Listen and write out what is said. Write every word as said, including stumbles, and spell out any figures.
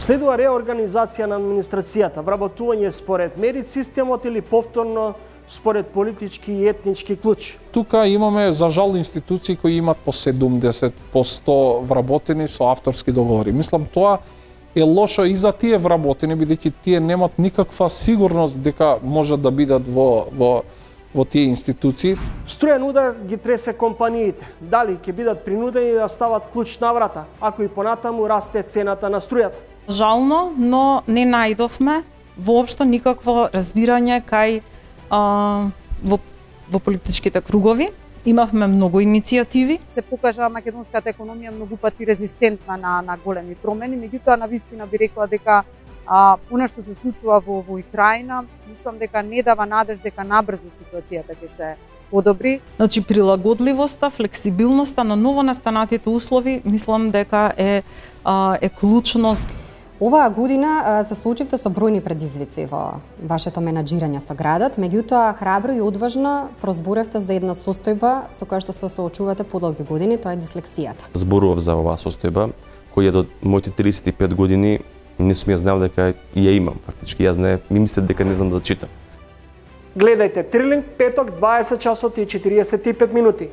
Следува реорганизација на администрацијата, вработување според мерит системот или повторно според политички и етнички клуч. Тука имаме, за жал, институции кои имат по седумдесет по сто вработени со авторски договори. Мислам, тоа е лошо и за тие вработени, бидејќи тие немат никаква сигурност дека можат да бидат во, во, во тие институции. Струен удар ги тресе компаниите. Дали ќе бидат принудени да стават клуч на врата, ако и понатаму расте цената на струјата? Жално, но не најдовме воопшто никакво разбирање кај а, во, во политичките кругови. Имавме многу иницијативи. Се покажа македонската економија многу пати резистентна на, на големи промени, меѓутоа на вистина би рекла дека а, она што се случува во, во Украина, мислам дека не дава надеж дека набрзо ситуацијата ќе се подобри. Значи прилагодливоста, флексибилноста на новонастанатите услови, мислам дека е, а, е клучно. Оваа година се случивте со бројни предизвици во вашето менаџирање со градот, меѓутоа храбро и одважно прозборевте за една состојба со која што се соочувате подолги години, тоа е дислексијата. Зборував за оваа состојба, која до моите тридесет и пет години не сум ја знал дека ја имам. Фактички јас не ми мислев дека не знам да читам. Гледајте Трилинг петок дваесет часот и четириесет и пет минути.